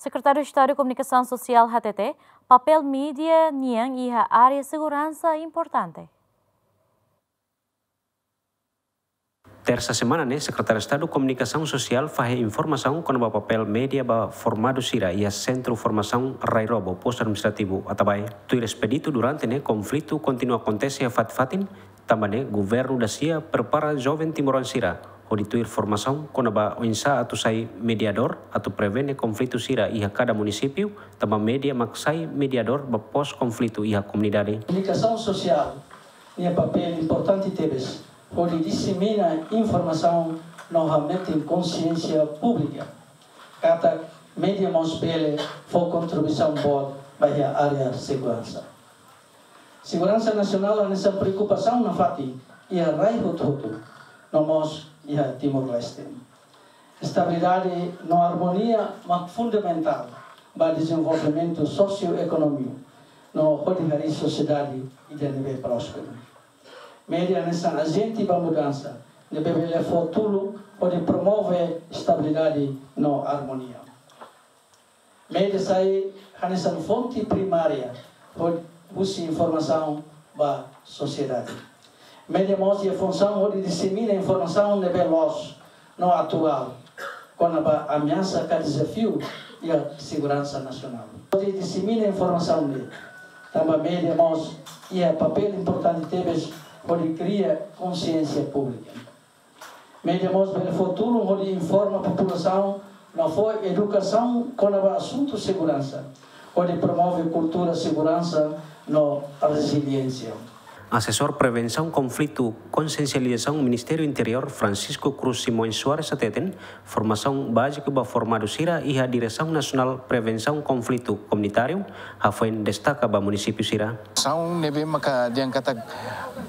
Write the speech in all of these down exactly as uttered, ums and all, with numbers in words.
Sekretáriu Estadu Komunikasaun Sosiál hatete, papél média nian iha área seguransa importante. Tersa semana ne'e, Sekretáriu Estadu Komunikasaun Sosiál fahe informasaun kona-ba papél média ba formadu sira iha Sentru Formasaun Rairobo, Postu Administrativu Atabae. Tuir espedítu durante ne'e konflitu kontinua akontese iha fatin-fatin, tanba ne'e governu dasia prepara joven timoroan sira hodi tuir formasaun kona-ba oinsá atu sai mediadór atu prevene konflitu sira iha kada munisípiu, tanba média mak sai mediadór ba pós-konflitu iha komunidade. Komunikasaun sosiál nia papél importante tebes hodi disemina informasaun no hametin konsiénsia públika. Katak média mós bele fó kontribuisaun boot ba iha área seguransa. Seguransa nasionál hanesan preokupasaun nafatin iha rai hotu-hotu, no mós iha Timor-Leste. Estabilidade no armonia mak fundamentál ba dezenvolvimentu sosioekonómiku no hodi harii sosiedade ida ne'ebé prósperu. Média hanesan ajente ba mudansa ne'ebé bele fó tulun hodi promove estabilidade no armonia. Média sai hanesan fonte primária ho-, husi informasaun ba sosiedade. Média mós iha funsaun hodi disemina informasaun ne'ebé loos no atuál kona-ba ameasa ka dezafiu iha seguransa nasionál. Hodi disemina informasaun ne'e, tanba média mós iha papél importante tebes hodi kria konsiénsia públika. Média mós bele fó tulun hodi informa populasaun no fó edukasaun kona-ba asuntu seguransa, hodi promove kultura seguransa no reziliénsia. Asesór Prevensaun Konflitu Konsiensializasaun Ministériu Interiór, Francisco Cruz Simões Soares hateten, formasaun báziku ba formadu sira iha Diresaun Nasionál Prevensaun Konflitu Komunitáriu, hafoin destaka ba munisípiu sira. Formasaun ne'ebé maka dehan katak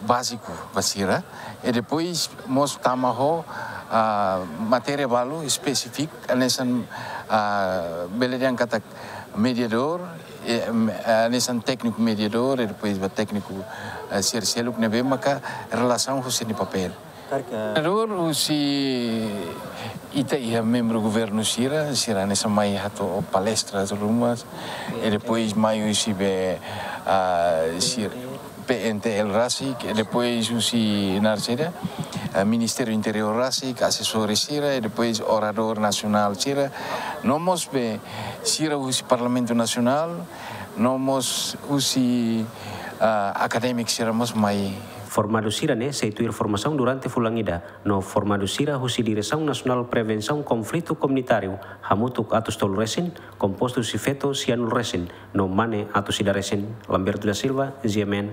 báziku ba sira, i depois mós tama ho, ah, matéria balu espesífiku, hanesan, ah, bele dehan katak mediadór, eh, em, hanesan tékniku mediadór, i depois ba tékniku, eh, sira seluk ne'ebé maka relasaun ho sira-nia papél. Mediadór husi ita iha membru governu sira, sira hanesan mai hato'o palestra ruma, i depois mai husi be, ah, sira, P N T L rasik, i depois husi naran saida, ah, Ministériu Interiór rasik, asesores sira, i depois oradór nasionál sira, no mós be sira husi Parlamentu Nasionál, no mós husi, ah, akadémiku sira mós mai. Formadu sira-ne'e sei tuir formasaun durante fulan ida, no formadu sira husi Diresaun Nasionál Prevensaun Konflitu Komunitáriu, hamutuk atus tolu resin, kompostu husi feto sianulu resin, no mane atus ida resin. Lamberto da Silva, G M N.